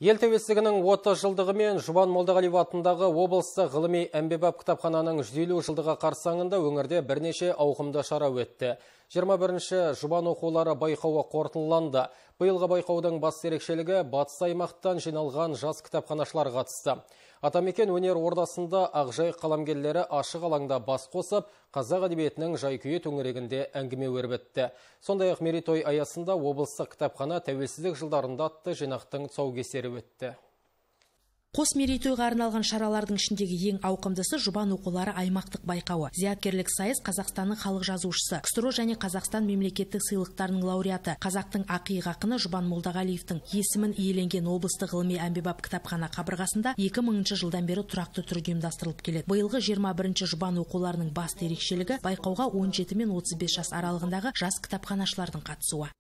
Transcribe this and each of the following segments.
Ел тәуелсіздігінің 30 жылдығы мен Жұбан Молдағалиев атындағы облыстық ғылыми әмбебап кітапхананың 150 жылдығы қарсаңында өңірде бірнеше ауқымды шара өтті. 21-ші Жұбан оқулары байқауы қорытындыланды. Биылғы байқаудың басты ерекшелігі батыс аймақтан жиналған жас кітапханашылар қатысты. Атамекен өнер ордасында ақжайық қаламгерлері ашық алаңда бас қосып, қазақ әдебиетінің жай-күйі төңірегінде әңгіме өрбітті. Сондай-ақ мерейтой аясында облыстық кітапхана тәуелсіздік жылдарында атты жинақтың тұсаукесері өтті. Қос мерейтойға арналған шаралардың ішіндегі ең ауқымдысы Жұбан оқулары аймақтық байқауы. Зияткерлік сайыс Қазақстанның халық жазушысы, КСРО және Қазақстан мемлекеттік сыйлықтарының лауреаты, қазақтың ақиық ақыны Жұбан Молдағалиевтің есімін иеленген облыстық ғылыми әмбебап кітапхана қабырғасында 2000 жылдан бері тұрақты түрде ұйымдастырылып келеді. Биылғы 21-ші Жұбан оқуларының басты ерекшелігі байқауға 17 мен 35 жас аралығындағы жас кітапханашылардың қатысуы.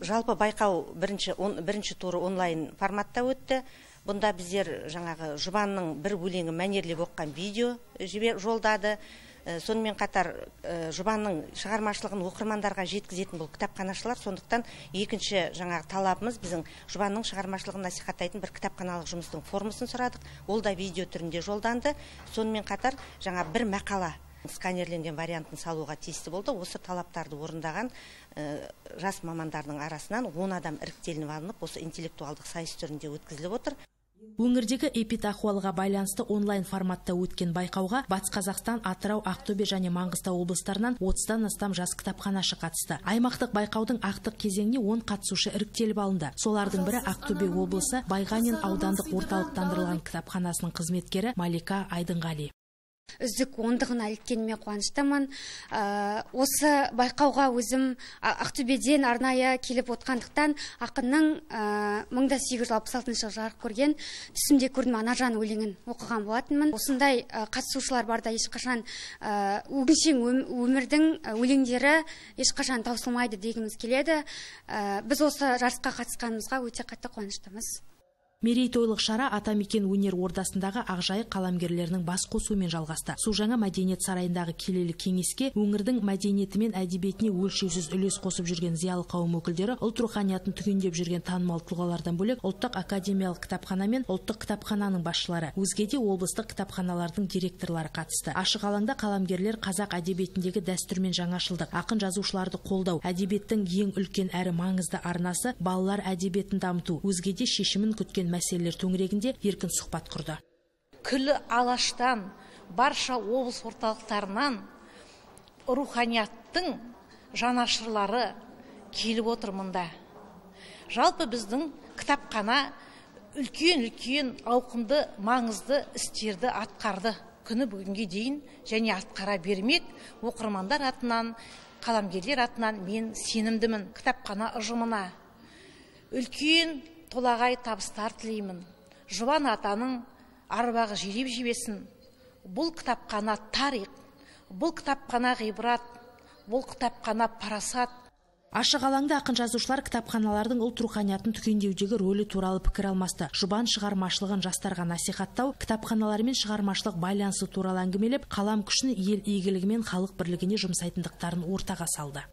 Жалпы байқау бірінші туры онлайн форматта өтті. Бұнда біздер жаңағы Жұбанның бір өлеңі мәнерлеп оққан видео жолдады. Сонымен қатар Жұбанның шығармашылығын оқырмандарға жеткізетін бұл кітапханашылар. Сондықтан екінші жаңағы талабымыз біздің Жұбанның шығармашылығын насихаттайтын бір кітапханалық жұмыстың формасын сұрадық. Ол да видео түрінде жолданды. Сонымен қатар жаңа бір мақала сканерленген вариантын салуға тиісті болды. Осы талаптарды орындаған жас мамандардың арасынан 10 адам іріктелініп алынып, осы интеллектуалдық сайыс түрінде өткізіліп отыр. Өңірдегі эпидахуалға байланысты онлайн форматта өткен байқауға Батыс Қазақстан, Атырау, Ақтөбе және Маңғыстау облыстарынан 30-тан астам жас кітапханашы қатысты. Аймақтық байқаудың ақтық кезеңіне 10 қатысушы іріктеліп алынды. Солардың бірі Ақтөбе облысы Байғанин аудандық орталықтандырылған кітапханасының қызметкері Малика Айдынғали. Үздік ондығына іліккеніме қуаныштымын. Осы байқауға өзім Ақтөбеден арнайы келіп отқандықтан ақынның 1866 жылы жарық көрген түсімде көрдім Анажан өлеңін оқыған болатынмын. Осындай қатысушылар барда ешқашан өңшең өмірдің өлеңдері ешқашан таусылмайды дегіміз келеді. Біз осы жарысқа қатысқанымызға өте қатты қуаныштымыз. Мерейтойлық шара Атамекен өнер ордасындағы ақжайық қаламгерлерінің бас қосуымен жалғасты. Су жаңа мәдениет сарайындағы келелі кеңеске өңірдің мәдениеті мен әдебиетіне өлшеусіз үлес қосып жүрген зиялы қауым өкілдері, ұлт руханиятын түгендеп жүрген танымал тұлғалардан бөлек ұлттық академиялық кітапхана мен ұлттық кітапхананың басшылары, өзге де облыстық кітапханалардың директорлары қатысты. Ашық алаңда қаламгерлер қазақ әдебиетіндегі дәстүр мен жаңашылдық, ақын жазушыларды қолдау, әдебиеттің ең үлкен әрі маңызды арнасы балалар әдебиетін дамыту, өзге де шешімін күткен мәселелер төңірегінде еркін сұхбат құрды. Күлі алаштан, барша облыс орталықтарынан руханияттың жанашырлары келіп отыр мұнда. Жалпы біздің кітапхана үлкен ауқымды, маңызды істерді атқарды. Күні бүгінге дейін және атқара бермек. Оқырмандар атынан, қаламгерлер атынан мен сенімдімін кітапхана ұжымына. Үлкен толағай табыстар тілеймін. Жұбан атаның арбағы желеп жебесін. Бұл кітапхана тарих, бұл кітапхана ғибрат, бұл кітапхана парасат. Ашық алаңда ақын жазушылар кітапханалардың ұлт руханиятын түгендеудегі рөлі туралы пікір алмасты. Жұбан шығармашылығын жастарға насихаттау, кітапханалармен шығармашылық байланысы туралы әңгімелеп, қалам күшін ел игілігі мен халық бірлігіне жұмсайтындықтарын ортаға салды.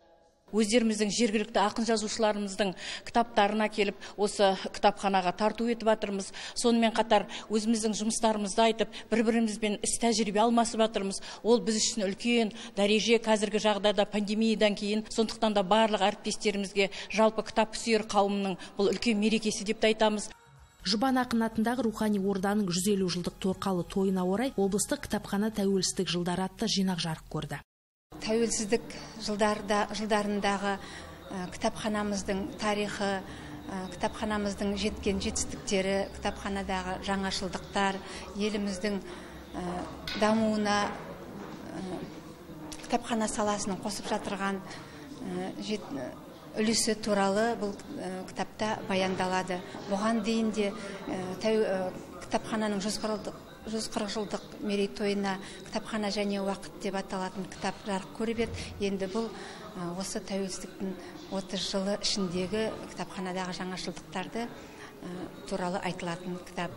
Өздеріміздің жергілікті ақын жазушыларымыздың кітаптарына келіп, осы кітапханаға тарту етіп жатырмыз. Сонымен қатар өзіміздің жұмыстарымызды айтып, бір-бірімізбен іс тәжірибе алмасып жатырмыз. Ол біз үшін үлкен дәреже қазіргі жағдайда пандемиядан кейін. Сондықтан да барлық әріптестерімізге жалпы кітап сүйер қауымның бұл үлкен мерекесі деп айтамыз. Жұбан ақын атындағы рухани орданың 150 жылдық торқалы тойына орай облыстық кітапхана тәуелсіздік жылдары атты жинақ жарық көрді. Тәуелсіздік жылдарындағы кітапханамыздың тарихы, кітапханамыздың жеткен жетістіктері, кітапханадағы жаңашылдықтар, еліміздің дамуына кітапхана саласының қосып жатырған үлесі туралы бұл кітапта баяндалады. Бұған дейін де кітапхананың 140 жылдық мерейтойына кітапхана және уақыт деп аталатын кітап жарық көріп еді. Енді бұл осы тәуелсіздіктің 30 жылы ішіндегі кітапханадағы жаңашылдықтарды туралы айтылатын кітап.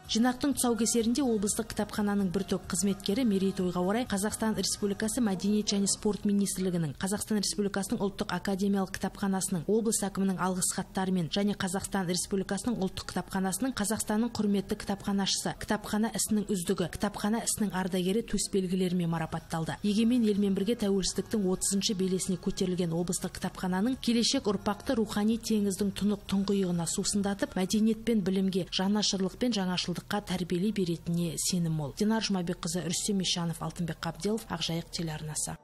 Жинақтың тұсаукесерінде облыстық кітапхананың бір топ қызметкері мерейтойға орай Қазақстан Республикасы Мәдениет және спорт министрлігінің, Қазақстан Республикасының ұлттық академиялық кітапханасының, облыс әкімінің алғыс хаттарымен және Қазақстан Республикасының ұлттық кітапханасының Қазақстанның құрметті кітапханашысы, кітапхана ісінің үздігі, кітапхана ісінің ардагері төсбелгілерімен марапатталды. Егемен елмен бірге тәуелсіздіктің 30-шы белесіне көтерілген облыстық кітапхананың келешек ұрпақты рухани теңіздің тұнық тұңғиығына сусындатып, мәдениет пен білімге, жанашырлық пен жаңашылдыққа тәрбиелей беретініне сенім мол. Динар Жұмабекқызы, Рүстем Ишанов, Алтынбек Қабделов, Ақжайық телеарнасы.